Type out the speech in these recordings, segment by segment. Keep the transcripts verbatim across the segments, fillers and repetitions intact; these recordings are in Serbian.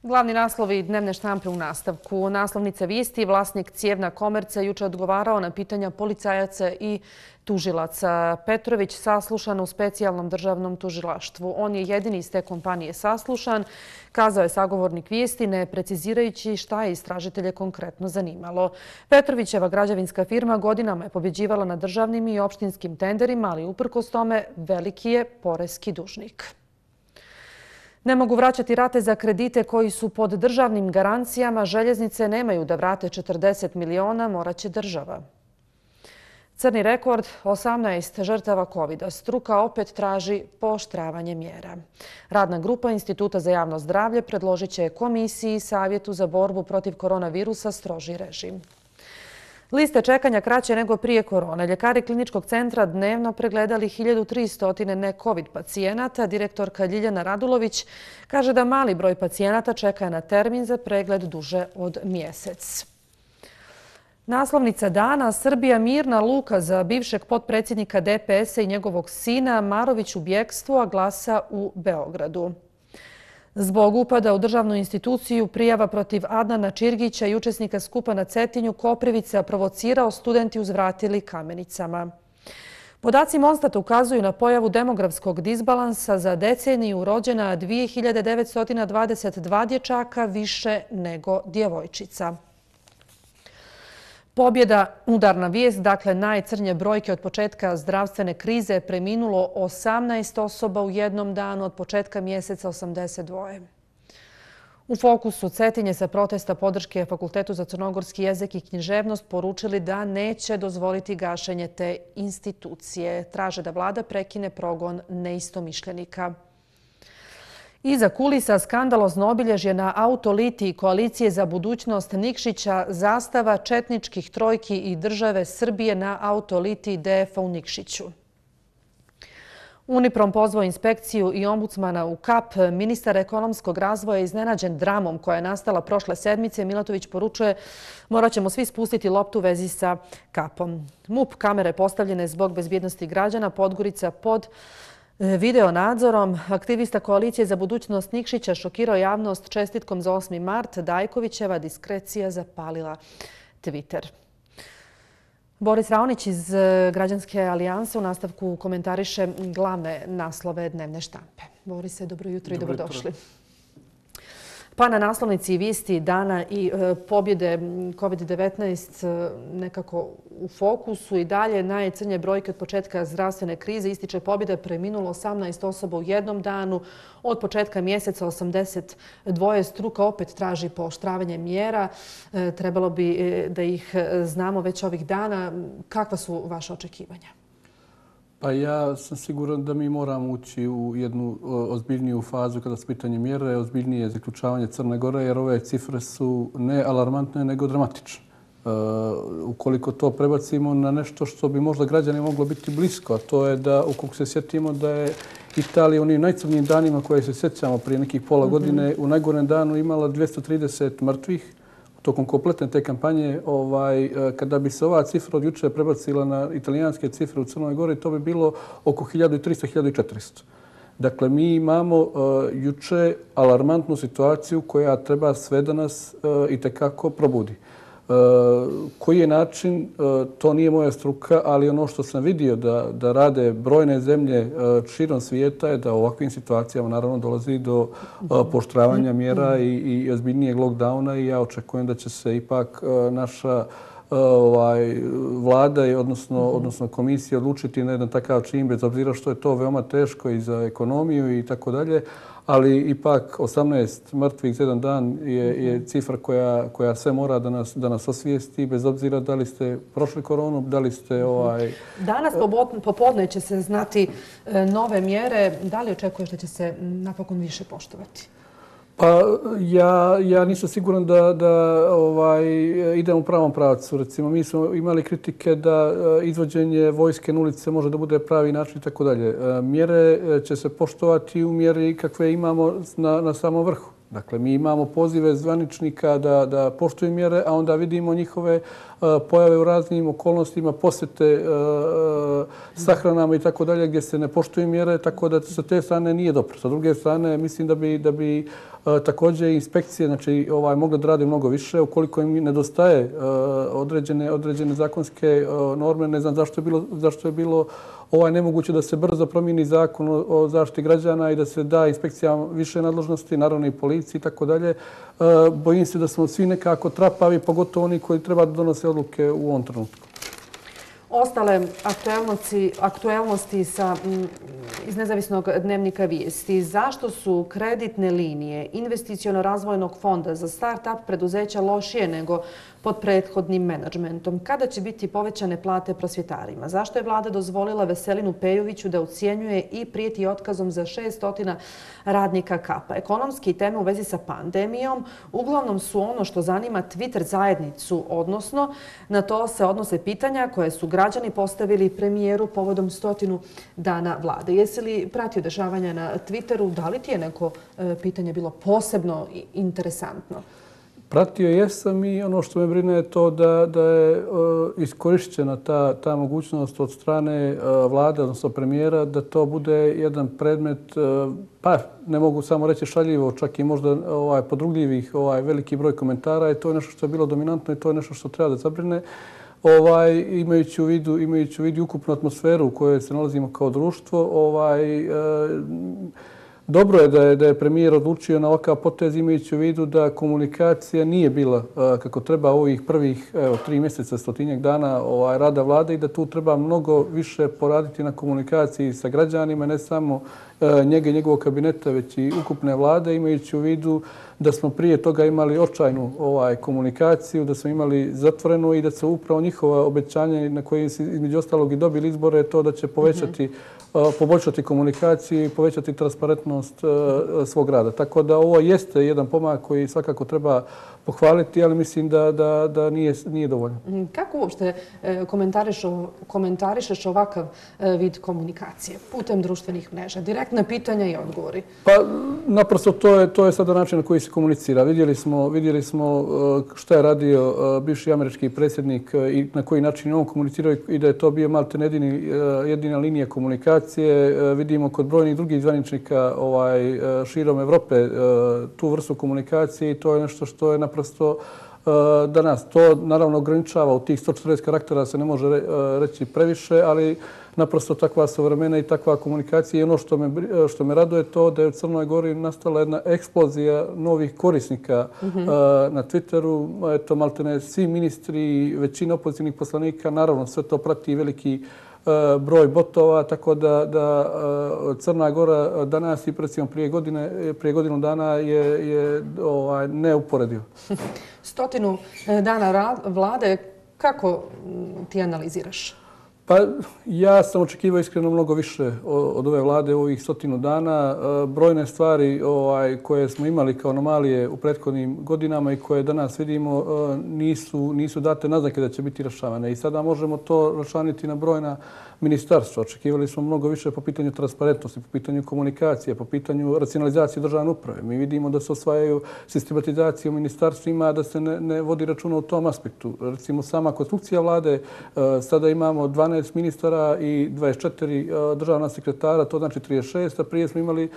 Glavni naslovi dnevne štampe u nastavku. Naslovnica vijesti: vlasnik Cijevna Komerca juče odgovarao na pitanja policajaca i tužilaca. Petrović saslušan u specijalnom državnom tužilaštvu. On je jedini iz te kompanije saslušan, kazao je sagovornik vijesti, ne precizirajući šta je istražitelje konkretno zanimalo. Petrovićeva građevinska firma godinama je pobjeđivala na državnim i opštinskim tenderima, ali uprkos tome veliki je poreski dužnik. Ne mogu vraćati rate za kredite koji su pod državnim garancijama. Željeznice nemaju da vrate četrdeset miliona, moraće država. Crni rekord, osamnaest žrtava kovida. Struka opet traži pooštravanje mjera. Radna grupa Instituta za javno zdravlje predložit će Komisiji i Savjetu za borbu protiv koronavirusa stroži režim. Liste čekanja kraće nego prije korone. Ljekari kliničkog centra dnevno pregledali hiljadu tristo ne-covid pacijenata. Direktorka Ljiljana Radulović kaže da mali broj pacijenata čeka na termin za pregled duže od mjesec. Naslovnica dana: Srbija mirna luka za bivšeg potpredsjednika D P S-a i njegovog sina. Marović u bjekstvu, a glasa u Beogradu. Zbog upada u državnu instituciju, prijava protiv Adnana Čirgića i učesnika skupa na Cetinju, Koprivica provocirao, studenti uzvratili kamenicama. Podaci Monstata ukazuju na pojavu demografskog disbalansa. Za deceniju rođena dvije hiljade devetsto dvadeset dva dječaka, više nego djevojčica. Pobjeda, udarna vijest, dakle najcrnje brojke od početka zdravstvene krize, preminulo osamnaest osoba u jednom danu, od početka mjeseca osamdeset dva. U fokusu Cetinje sa protesta podrške Fakultetu za crnogorski jezik i književnost poručili da neće dozvoliti gašenje te institucije. Traže da vlada prekine progon neistomišljenika. Iza kulisa skandalozno obilježje na autolitiji Koalicije za budućnost Nikšića, zastava četničkih trojki i države Srbije na autolitiji D F-a u Nikšiću. Uniprom pozvao inspekciju i ombudsmana u Kap. Ministar ekonomskog razvoja je iznenađen dramom koja je nastala prošle sedmice. Milatović poručuje: morat ćemo svi spustiti loptu u vezi sa Kapom. M U P kamere postavljene zbog bezbjednosti građana. Podgorica pod video nadzorom. Aktivista Koalicije za budućnost Nikšića šokirao javnost čestitkom za osmi mart. Dajkovićeva diskrecija zapalila Twitter. Boris Raonić iz Građanske alijanse u nastavku komentariše glavne naslove dnevne štampe. Borise, dobro jutro i dobrodošli. Pa na naslovnici vijesti dana i pobjede kovid devetnaest nekako u fokusu i dalje najcrnje brojke od početka zdravstvene krize. Ističe pobjeda, preminulo osamnaest osoba u jednom danu. Od početka mjeseca osamdeset dva. Struka opet traži pooštravanje mjera. Trebalo bi da ih znamo već ovih dana. Kakva su vaše očekivanja? Pa ja sam siguran da mi moramo ući u jednu ozbiljniju fazu kada su pitanje mjere, ozbiljnije zaključavanje Crne Gore, jer ove cifre su ne alarmantne, nego dramatične. Ukoliko to prebacimo na nešto što bi možda građani moglo biti blisko, a to je da, ukoliko se sjetimo da je Italija u onim najcrnijim danima koje se sjećamo prije nekih pola godine, u najgorem danu imala dvjesto trideset mrtvih, tokom kompletne te kampanje. Kada bi se ova cifra od juče prebacila na italijanske cifre u Crnoj Gori, to bi bilo oko hiljadu tristo do hiljadu četiristo. Dakle, mi imamo juče alarmantnu situaciju koja treba sve da nas itekako probudi. Koji je način, to nije moja struka, ali ono što sam vidio da rade brojne zemlje širom svijeta je da u ovakvim situacijama naravno dolazi do pooštravanja mjera i ozbiljnijeg lockdowna, i ja očekujem da će se ipak naša vlada i odnosno komisija odlučiti na jedan takav čin, bez obzira što je to veoma teško i za ekonomiju i tako dalje. Ali ipak osamnaest mrtvih za jedan dan je cifra koja sve mora da nas osvijesti, bez obzira da li ste prošli koronu, da li ste... Danas popodne će se znati nove mjere. Da li očekuješ da će se napokon više poštovati? Pa ja nisam siguran da idem u pravom pravcu. Recimo, mi smo imali kritike da izvođenje vojske na ulice može da bude pravi način i tako dalje. Mjere će se poštovati u mjeri kakve imamo na samom vrhu. Dakle, mi imamo pozive zvaničnika da, da poštuju mjere, a onda vidimo njihove uh, pojave u raznim okolnostima, posjete uh, sahranama i tako dalje, gdje se ne poštuju mjere, tako da sa te strane nije dobro. Sa druge strane, mislim da bi, da bi uh, također inspekcije znači, ovaj, mogle da rade mnogo više. Ukoliko im nedostaje uh, određene, određene zakonske uh, norme, ne znam zašto je bilo, zašto je bilo ovaj nemoguće da se brzo promijeni zakon o, o zaštiti građana i da se da inspekcijama više nadležnosti, naravno i policiji i tako dalje. Bojim se da smo svi nekako trapavi, pogotovo oni koji treba da donose odluke u ovom trenutku. Ostale aktuelnosti, aktuelnosti sa, m, iz nezavisnog dnevnika Vijesti. Zašto su kreditne linije investiciono-razvojnog fonda za start-up preduzeća lošije nego pod prethodnim menadžmentom? Kada će biti povećane plate prosvjetarima? Zašto je vlada dozvolila Veselinu Pejoviću da ucijenjuje i prijeti otkazom za šessto radnika Kapa? Ekonomski teme u vezi sa pandemijom uglavnom su ono što zanima Twitter zajednicu, odnosno na to se odnose pitanja koje su građani postavili premijeru povodom stotinu dana vlade. Jesi li pratio dešavanja na Twitteru? Da li ti je neko e, pitanje bilo posebno interesantno? Pratio jesam i ono što me brine je to da, da je uh, iskorišćena ta, ta mogućnost od strane uh, vlade, odnosno premijera, da to bude jedan predmet, uh, pa ne mogu samo reći šaljivo, čak i možda ovaj, podrugljivih ovaj, veliki broj komentara. I to je nešto što je bilo dominantno i to je nešto što treba da zabrine. Ovaj, imajući u vidu, imajući u vidu ukupnu atmosferu u kojoj se nalazimo kao društvo, ovaj, uh, dobro je da je, da je premijer odlučio na ovakav potez imajući u vidu da komunikacija nije bila a, kako treba ovih prvih evo, tri mjeseca, stotinjak dana ovaj, rada vlade i da tu treba mnogo više poraditi na komunikaciji sa građanima, ne samo a, njega i njegovog kabineta, već i ukupne vlade, imajući u vidu da smo prije toga imali očajnu ovaj, komunikaciju, da smo imali zatvorenu i da se upravo njihova obećanja na koje se između ostalog i dobili izbore to da će povećati mm-hmm. poboljšati komunikaciju i povećati transparentnost uh, svog rada. Tako da ovo jeste jedan pomak koji svakako treba pohvaliti, ali mislim da, da, da nije, nije dovoljno. Kako uopšte komentariš, komentarišeš ovakav vid komunikacije putem društvenih mreža? Direktna pitanja i odgovori. Pa naprosto to je, to je sada način na koji se komunicira. Vidjeli smo, vidjeli smo šta je radio bivši američki predsjednik i na koji način on komunicirao i da je to bio maltene jedini, jedina linija komunikacije. Vidimo kod brojnih drugih zvaničnika ovaj, širom Evrope tu vrstu komunikacije i to je nešto što je naprosto danas. To naravno ograničava u tih sto četrdeset karaktera, se ne može reći previše, ali naprosto takva su vremena i takva komunikacija. I ono što me, što me raduje to da je u Crnoj Gori nastala jedna eksplozija novih korisnika mm-hmm. na Twitteru. Eto, maltene svi ministri, većina opozicijnih poslanika, naravno sve to prati veliki broj botova, tako da, da Crna Gora danas i recimo prije godine, prije godinu dana je, je ovaj, neuporedivo. Stotinu dana vlade, kako ti analiziraš? Pa ja sam očekivao iskreno mnogo više od ove vlade u ovih stotinu dana. Brojne stvari ovaj, koje smo imali kao anomalije u prethodnim godinama i koje danas vidimo nisu, nisu date naznake da će biti rješavane. I sada možemo to raščlaniti na brojna ministarstva. Očekivali smo mnogo više po pitanju transparentnosti, po pitanju komunikacije, po pitanju racionalizacije državne uprave. Mi vidimo da se osvajaju sistematizacije u ministarstvima, da se ne, ne vodi računa u tom aspektu. Recimo sama konstrukcija vlade, sada imamo dvanaest ministara i dvadeset četiri državna sekretara, to znači trideset šest, a prije smo imali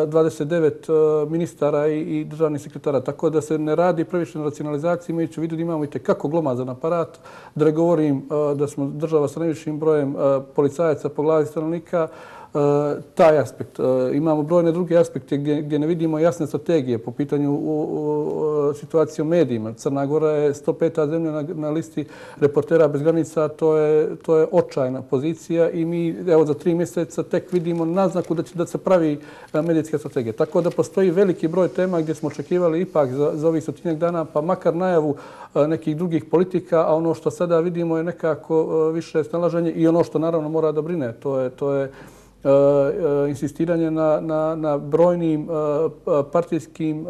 dvadeset devet ministara i državnih sekretara. Tako da se ne radi previše na racionalizaciji, imajući u vidu da imamo i tekako glomazan aparat. Da ne govorim da smo država sa najvišim brojem policajaca po glavi stanovnika, taj aspekt. Imamo brojne druge aspekte gdje, gdje ne vidimo jasne strategije po pitanju u, u, situacije u medijima. Crna Gora je sto peta zemlja na, na listi Reportera bez granica, to je, to je očajna pozicija i mi evo za tri mjeseca tek vidimo naznaku da će da se pravi medijska strategija. Tako da postoji veliki broj tema gdje smo očekivali ipak za, za ovih stotinjak dana, pa makar najavu nekih drugih politika, a ono što sada vidimo je nekako više snalaženje i ono što naravno mora da brine, to je, to je insistiranje na, na, na brojnim partijskim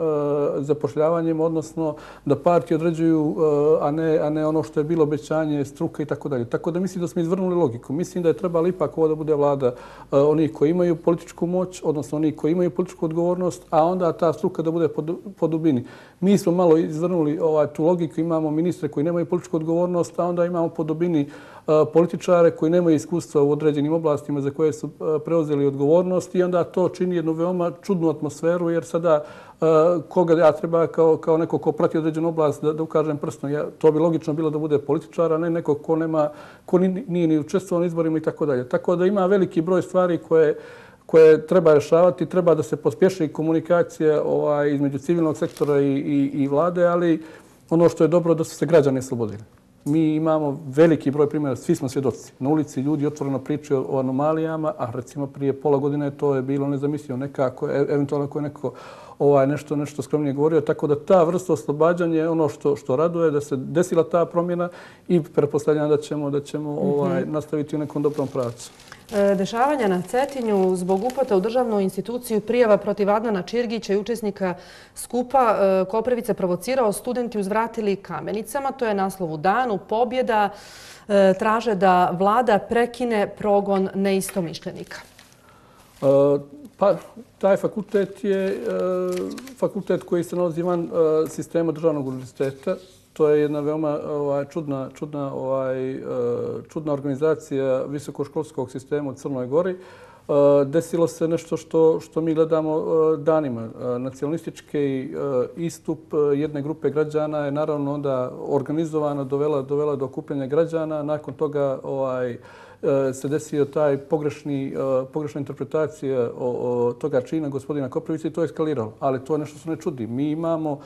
zapošljavanjem, odnosno da partije određuju, a ne, a ne ono što je bilo obećanje, struka i tako dalje. Tako da mislim da smo izvrnuli logiku. Mislim da je trebalo ipak ovo da bude vlada onih koji imaju političku moć, odnosno onih koji imaju političku odgovornost, a onda ta struka da bude po dubini. Mi smo malo izvrnuli ovaj, tu logiku, imamo ministre koji nemaju političku odgovornost, a onda imamo po dubini političare koji nemaju iskustva u određenim oblastima za koje su preuzeli odgovornost i onda to čini jednu veoma čudnu atmosferu jer sada koga ja treba kao, kao neko ko prati određenu oblast da, da ukažem prstom. Ja, to bi logično bilo da bude političar, a ne neko ko, nema, ko nije ni učestvovao na izborima i tako dalje. Tako da ima veliki broj stvari koje koje treba rješavati, treba da se pospješi komunikacija ovaj, između civilnog sektora i, i, i vlade, ali ono što je dobro da su se građani oslobodili. Mi imamo veliki broj primjera, svi smo svjedoci. Na ulici ljudi otvoreno pričaju o anomalijama, a recimo prije pola godine to je bilo nezamislivo nekako, eventualno ako je neko ovaj, nešto, nešto skromnije govorio. Tako da ta vrsta oslobađanja je ono što, što raduje, da se desila ta promjena i pretpostavljam da ćemo, da ćemo ovaj, nastaviti u nekom dobrom pravcu. Dešavanja na Cetinju zbog upata u državnu instituciju prijava protiv Adnana Čirgića i učesnika skupa Koprivica provocirao, studenti uzvratili kamenicama. To je naslov u danu. Pobjeda traže da vlada prekine progon neistomišljenika. Pa, taj fakultet je fakultet koji se nalazi van sistema državnog univerziteta. To je jedna veoma ovaj, čudna, čudna, ovaj, čudna organizacija visokoškolskog sistema u Crnoj Gori. Desilo se nešto što, što mi gledamo danima. Nacionalistički istup jedne grupe građana je naravno onda organizovana, dovela, dovela do okupljanja građana. Nakon toga ovaj, se desio taj pogrešni, pogrešna interpretacija o, o toga čina gospodina Koprivića i to je eskaliralo. Ali to je nešto što ne čudi. Mi imamo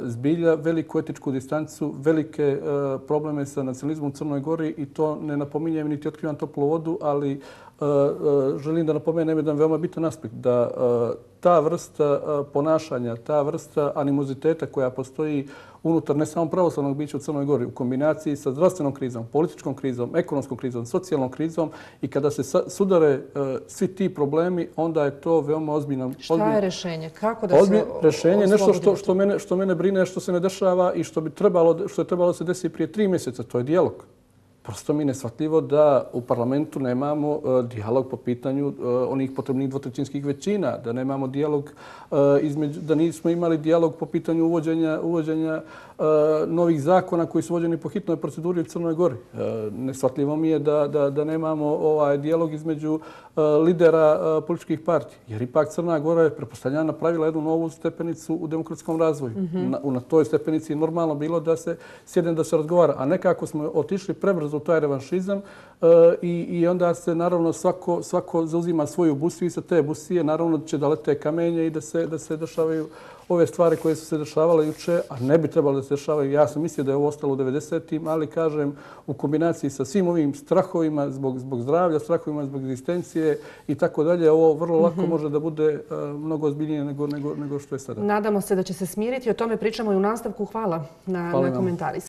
zbilja veliku etičku distancu, velike probleme sa nacionalizmom u Crnoj Gori i to ne napominjem niti otkrivam toplu vodu, ali želim da napomenem jedan veoma bitan aspekt, da ta vrsta ponašanja, ta vrsta animoziteta koja postoji unutar ne samo pravoslavnog bića u Crnoj Gori, u kombinaciji sa zdravstvenom krizom, političkom krizom, ekonomskom krizom, socijalnom krizom i kada se sudare svi ti problemi, onda je to veoma ozbiljno. Šta je rješenje? Kako da se rješenje? Nešto što, što, mene, što mene brine, što se ne dešava i što, bi trebalo, što je trebalo se desiti prije tri mjeseca, to je dijalog. Prosto mi je neshvatljivo da u parlamentu nemamo uh, dijalog po pitanju uh, onih potrebnih dvotrećinskih većina, da nemamo dijalog uh, između, da nismo imali dijalog po pitanju uvođenja, uvođenja uh, novih zakona koji su uvođeni po hitnoj proceduri u Crnoj Gori. Uh, neshvatljivo mi je da, da, da nemamo ovaj dijalog između uh, lidera uh, političkih partija, jer ipak Crna Gora je pretpostavljena napravila jednu novu stepenicu u demokratskom razvoju. Mm-hmm. na, na toj stepenici je normalno bilo da se sjedne da se razgovara, a nekako smo otišli prebrzo u taj revanšizam uh, i, i onda se naravno svako, svako zauzima svoju busiju i sa te busije naravno će da lete kamenje i da se, da se dešavaju ove stvari koje su se dešavale juče, a ne bi trebalo da se dešavaju. Ja sam mislio da je ovo ostalo u devedesetim, ali kažem u kombinaciji sa svim ovim strahovima zbog, zbog zdravlja, strahovima zbog egzistencije i tako dalje, ovo vrlo lako mm-hmm. može da bude uh, mnogo ozbiljnije nego, nego, nego što je sada. Nadamo se da će se smiriti. O tome pričamo i u nastavku. Hvala na, na komentari.